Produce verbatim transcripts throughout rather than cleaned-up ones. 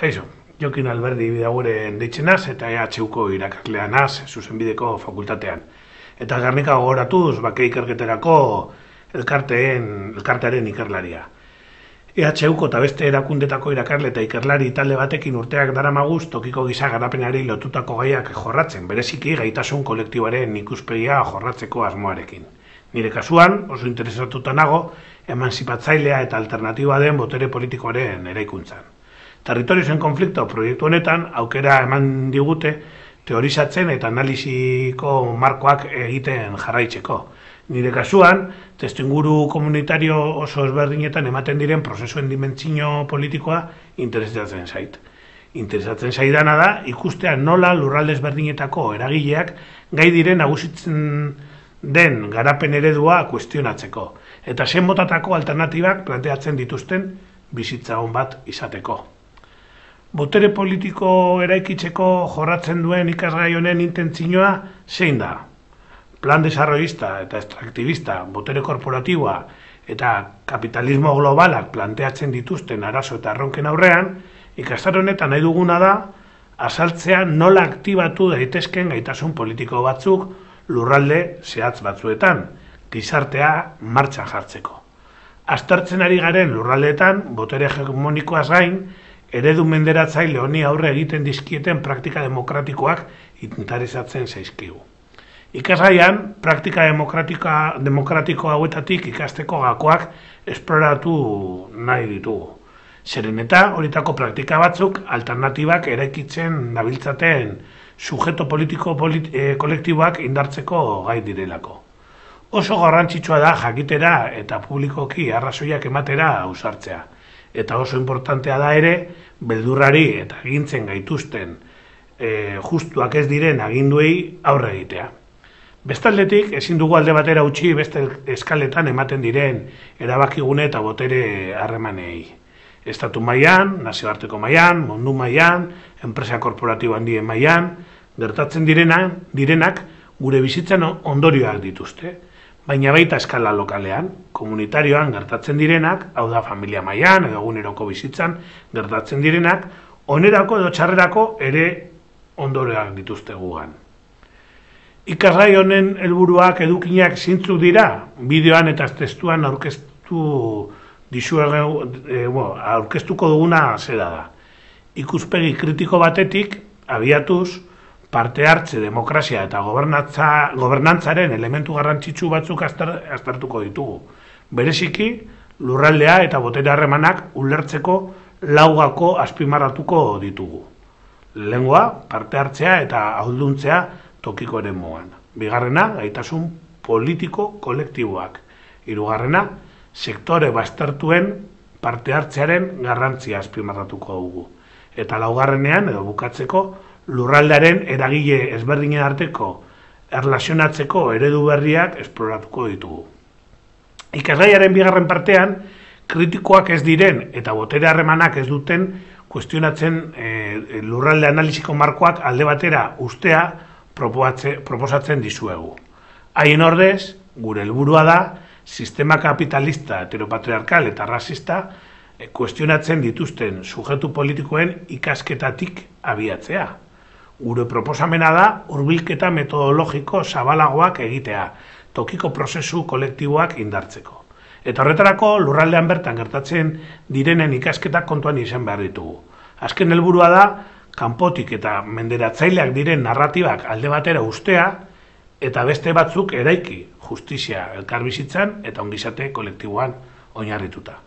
Kaixo, Jokin Alberdi bidaguren deitzenaz eta E H Uko irakasleanaz zuzenbideko fakultatean. Eta Gernika gogoratuz bake ikerketerako elkarteen, elkartearen ikerlaria. E H Uko eta beste erakundetako irakasle eta ikerlari talde batekin urteak daramaguz tokiko giza garapenari lotutako gaiak jorratzen, bereziki gaitasun kolektiboaren ikuspegia jorratzeko asmoarekin. Nire kasuan, oso interesatuta nago, emanzipatzailea eta alternatiba den botere politikoaren eraikuntzan. Territorioen konflikto proiektu honetan aukera eman digute teorizatzen eta analiziko markoak egiten jarraitzeko. Nire kasuan, testuinguru komunitario oso ezberdinetan ematen diren prozesuen dimentsio politikoa interesatzen zait. Interesatzen zaidana da ikustea nola lurralde ezberdinetako eragileak gai diren nagusitzen den garapen eredua kuestionatzeko eta zen motatako alternatibak planteatzen dituzten bizitza on bat izateko. Botere politiko eraikitzeko jorratzen duen ikasgai honen intentzioa zein da? Plan desarrollista eta extraktibista, botere korporatiboa eta kapitalismo globalak planteatzen dituzten arazo eta erronken aurrean, ikastaro honetan nahi duguna da azaltzea nola aktibatu daitezken gaitasun politiko batzuk lurralde zehatz batzuetan, gizartea martxan jartzeko. Aztertzen ari garen lurraldeetan, botere hegemonikoaz gain, eredu menderatzaile honi aurre egiten dizkieten praktika demokratikoak interesatzen zaizkigu. Ikasgaian, praktika demokratiko hauetatik ikasteko gakoak esploratu nahi ditugu. Zeren eta horietako praktika batzuk alternatibak eraikitzen dabiltzaten sujeto politiko polit e, kolektiboak indartzeko gai direlako. Oso garrantzitsua da jakitera eta publikoki arrazoiak ematera ausartzea. Eta oso importantea da ere, beldurrari eta agintzen gaituzten e, justuak ez diren aginduei aurre egitea. Bestaldetik, ezin dugu alde batera utzi beste eskaletan ematen diren erabakigune eta botere harremanei. Estatu mailan, nazioarteko mailan, mundu mailan, enpresa korporatibo handien mailan, gertatzen direnak, direnak gure bizitzan ondorioak dituzte. Baina baita eskala lokalean, komunitarioan gertatzen direnak, hau da familia mailan edo eguneroko bizitzan gertatzen direnak, onerako edo txarrerako ere ondorioak dituzte gugan. Ikasgai honen helburuak edukinak zeintzuk dira, bideoan eta testuan aurkeztu dizuegu, e, bueno, aurkeztuko duguna zera da. Ikuspegi kritiko batetik, abiatuz, parte hartze, demokrazia eta gobernantzaren elementu garrantzitsu batzuk aztertuko ditugu. Bereziki, lurraldea eta botere harremanak ulertzeko laugako azpimarratuko ditugu. Lehengoa, parte hartzea eta ahalduntzea tokiko eremuan. Bigarrena, gaitasun politiko kolektiboak. Hirugarrena, sektore baztertuen parte hartzearen garrantzia azpimarratuko dugu. Eta laugarrenean, edo bukatzeko, lurraldearen eragile ezberdinen arteko erlazionatzeko eredu berriak esploratuko ditugu. Ikasgaiaren bigarren partean, kritikoak ez diren eta botere harremanak ez duten kuestionatzen e, lurralde analiziko markoak alde batera ustea proposatzen dizuegu. Haien ordez, gure helburua da, sistema kapitalista, heteropatriarkal eta rasista e, kuestionatzen dituzten sujetu politikoen ikasketatik abiatzea. Gure proposamena da hurbilketa metodologiko zabalagoak egitea, tokiko prozesu kolektiboak indartzeko. Eta horretarako lurraldean bertan gertatzen direnen ikasketak kontuan izan behar ditugu. Azken helburua da, kanpotik eta menderatzaileak diren narratibak alde batera ustea, eta beste batzuk eraiki justizia elkarbizitzan eta ongizate kolektiboan oinarrituta.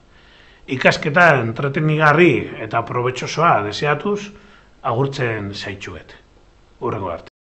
Ikasketa entretenigarri eta probetxosoa deseatuz, agurtzen zaitxuet. Hurrengo arte.